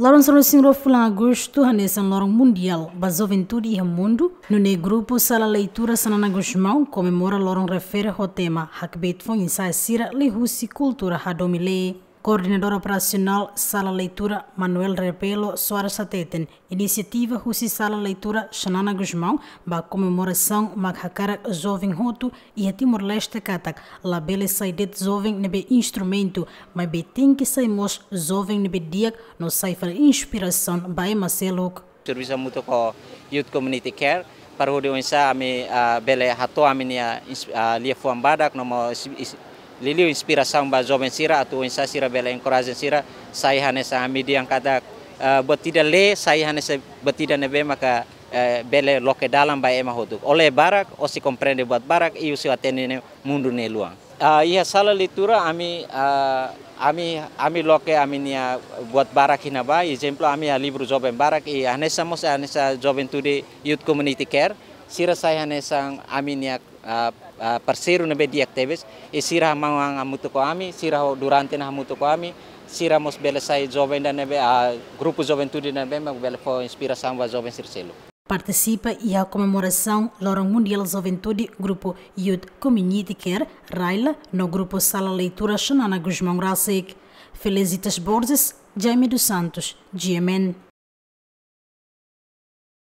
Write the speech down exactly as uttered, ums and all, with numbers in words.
Loron sanulu-resin-rua fulan Agostu hanesan Loron Mundiál ba Juventude iha mundu, nune'e grupu Sala Leitura Xanana Gusmão komemora loron refere ho tema Hakbiit Foin-sa'e Sira liuhusi Kultura Hadomi Lee. Koordenadór Operasionál Sala Leitura, Manuel Rebelo Soares hateten, inisiativa husi Sala Leitura Xanana Gusmão ba komemorasaun mak hakarak joven hotu iha Timor-Leste katak labele sai de'it joven ne'ebé instrumentu, maibé tenke sai mós joven ne'ebé di'ak no sai fali inspirasaun ba ema seluk. Servisu hamutuk ho Youth Community Care, para hodi oinsá ami, ah, bele hato'o ami-nia ins-, ah, liafuan badak no mós is-, is-, liuliu inspirasaun ba joven sira atu oinsá sira bele encourage sira sai hanesan ami dehan katak, ah, buat ida lee sai hanesan buat ida ne'ebé maka, eh, bele loke dalan ba ema hotu. Ó lee barak, ó sei komprende buat barak, i ó sei atende ne'e mundu nia luan. Ah, iha Sala Leitura ami, ah, ami, ami loke ami-nia buat barak iha ne'ebá, ezemplu ami iha livru joven barak, i hanesan mós hanesan Juventude Youth Community Care, sira sai hanesan ami-nia, ah, ah, parseiru ne'ebé di'ak tebes, i sira hamahan hamutuk ho ami, sira ho durante ne'e hamutuk ho ami, sira mós bele sai joven ida ne'ebé, ah, grupu Juventude ida ne'ebé mak bele fó inspirasaun ba joven sira seluk. Partisipa iha komemorasaun Loron Mundiál Juventude grupu Youth Community Care, RAILA, no grupu Sala Leitura Xanana Gusmão rasik. Felicitas Borges, Jaime dos Santos, G M N.